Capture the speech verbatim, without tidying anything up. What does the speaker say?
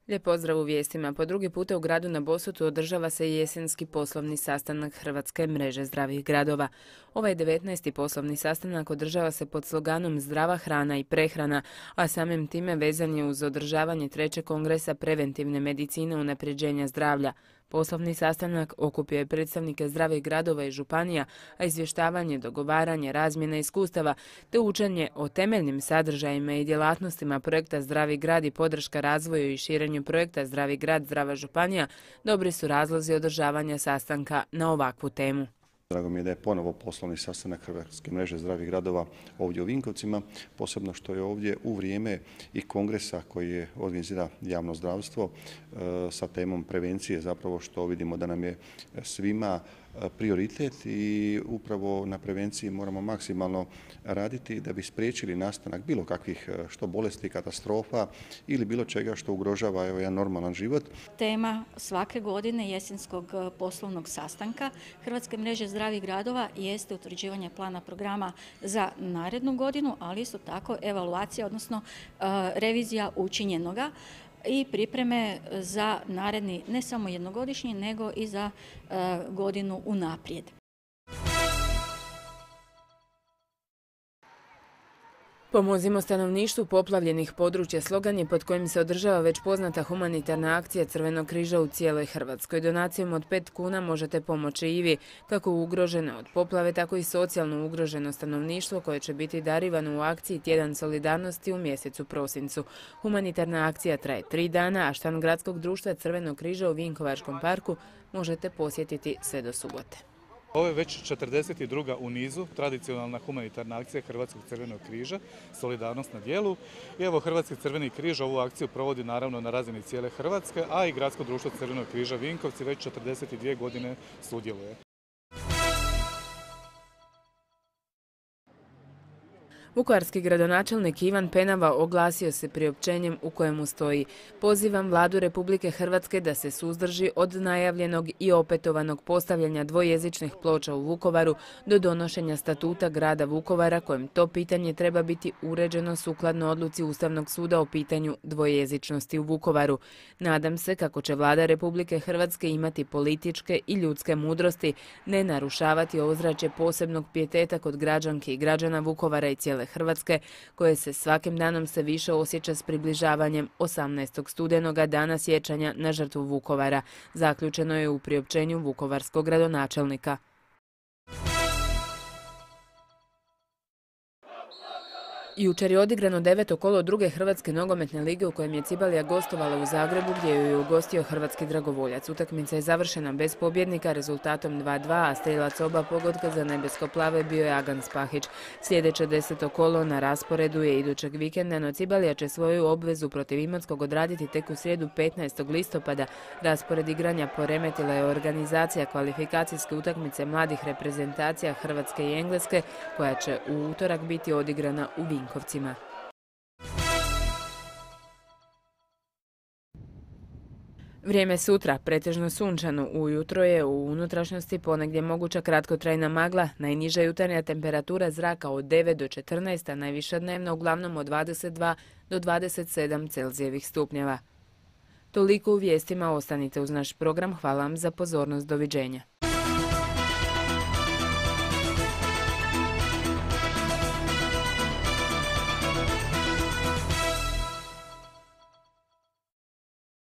Lijep pozdrav u vijestima. Po drugi puta u gradu na Bosutu održava se jesenski poslovni sastanak Hrvatske mreže zdravih gradova. Ovaj devetnaesti poslovni sastanak održava se pod sloganom Zdrava hrana i prehrana, a samim time vezan je uz održavanje trećeg kongresa preventivne medicine unapređenja zdravlja. Poslovni sastanak okupio je predstavnike zdravih gradova i županija, a izvještavanje, dogovaranje, razmjena iskustava te učenje o temeljnim sadržajima i djelatnostima projekta Zdravi grad i podrška razvoju i širenju projekta Zdravi grad, Zdrava županija dobri su razlozi održavanja sastanka na ovakvu temu. Drago mi je da je ponovo poslovni sastanak Hrvatske mreže zdravih gradova ovdje u Vinkovcima, posebno što je ovdje u vrijeme i kongresa koji je organizira javno zdravstvo sa temom prevencije, zapravo što vidimo da nam je svima prioritet i upravo na prevenciji moramo maksimalno raditi da bi spriječili nastanak bilo kakvih što bolesti, katastrofa ili bilo čega što ugrožava evo, jedan normalan život. Tema svake godine jesenskog poslovnog sastanka Hrvatske mreže zdravih gradova jeste utvrđivanje plana programa za narednu godinu, ali isto tako evaluacija, odnosno revizija učinjenoga i pripreme za naredni ne samo jednogodišnji, nego i za godinu unaprijed. Pomozimo stanovništvu poplavljenih područja slogan je pod kojim se održava već poznata humanitarna akcija Crvenog križa u cijeloj Hrvatskoj. Donacijom od pet kuna možete pomoći i vi, kako ugroženo od poplave, tako i socijalno ugroženo stanovništvo koje će biti darivano u akciji Tjedan solidarnosti u mjesecu prosincu. Humanitarna akcija traje tri dana, a štand Gradskog društva Crvenog križa u Vinkovačkom parku možete posjetiti sve do subote. Ovo je već četrdeset druga u nizu tradicionalna humanitarna akcija Hrvatskog crvenog križa, solidarnost na djelu. I evo Hrvatski crveni križ ovu akciju provodi naravno na razini cijele Hrvatske, a i Gradsko društvo Crvenog križa Vinkovci već četrdeset dvije godine sudjeluje. Vukovarski gradonačelnik Ivan Penava oglasio se priopćenjem u kojemu stoji: pozivam Vladu Republike Hrvatske da se suzdrži od najavljenog i opetovanog postavljanja dvojezičnih ploča u Vukovaru do donošenja statuta grada Vukovara, kojem to pitanje treba biti uređeno sukladno odluci Ustavnog suda o pitanju dvojezičnosti u Vukovaru. Nadam se kako će Vlada Republike Hrvatske imati političke i ljudske mudrosti, ne narušavati ozračje posebnog pijeteta kod građanki i građana Vukovara i cijele Hrvatske, koje se svakim danom se više osjeća s približavanjem osamnaestog studenoga, dana sjećanja na žrtvu Vukovara, zaključeno je u priopćenju vukovarskog gradonačelnika. Jučer je odigrano deveto kolo druge Hrvatske nogometne lige u kojem je Cibalija gostovala u Zagrebu, gdje ju je ugostio hrvatski dragovoljac. Utakmica je završena bez pobjednika rezultatom dva dva, a strelac oba pogotka za nebesko-plave bio je Agan Spahić. Sljedeće deseto kolo na rasporedu je idućeg vikenda, no Cibalija će svoju obvezu protiv Imotskog odraditi tek u srijedu petnaestog listopada. Raspored igranja poremetila je organizacija kvalifikacijske utakmice mladih reprezentacija Hrvatske i Engleske, koja će u utorak biti odigrana u Vinkovcima. Vrijeme sutra, pretežno sunčano, ujutro je u unutrašnjosti ponegdje moguća kratkotrajna magla, najniža jutarnja temperatura zraka od devet do četrnaest, a najviša dnevna uglavnom od dvadeset dva do dvadeset sedam Celzijevih stupnjeva. Toliko u vijestima, ostanite uz naš program, hvala vam za pozornost, doviđenja.